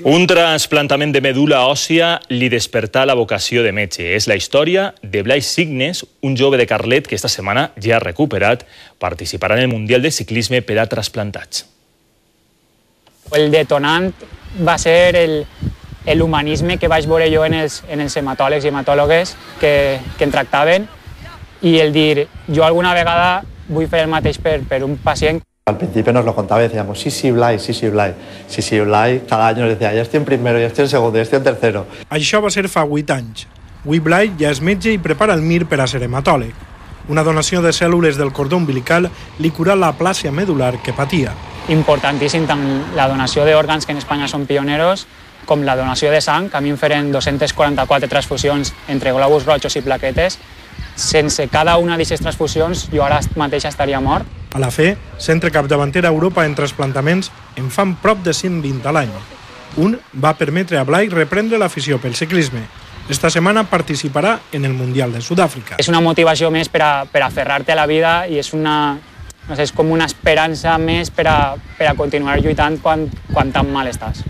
Un trasplantament de medul·la òssia li despertà la vocació de metge. És la història de Blai Signes, un jove de Carlet que esta setmana ja ha recuperat, participarà en el Mundial de Ciclisme per a trasplantats. El detonant va ser l'humanisme que vaig veure jo en els hematòlegs i hematòlogues que en tractaven i el dir, jo alguna vegada vull fer el mateix per un pacient. Al principio nos lo contaba y decíamos, sí, Blai, sí, Blai. Sí, Blai, cada año nos decía, ya estoy en primero, ya estoy en segundo, ya estoy en tercero. Això va ser fa 8 anys. Avui Blai ja és metge i prepara el MIR per a ser hematòleg. Una donació de cèl·lules del cordó umbilical li curà la aplàsia medular que patia. Importantíssim tant la donació d'òrgans, que en Espanya són pioneros, com la donació de sang, que a mi em feren 244 transfusions entre globus rojos i plaquetes. Sense cada una d'aquestes transfusions jo ara mateix estaria mort. A la fe, centre capdavanter a Europa en trasplantaments en fan prop de 120 a l'any. Un va permetre a Blai reprendre l'afició pel ciclisme. Esta setmana participarà en el Mundial de Sud-àfrica. És una motivació més per a aferrar-te a la vida i és és com una esperança més per a continuar lluitant quan tan mal estàs.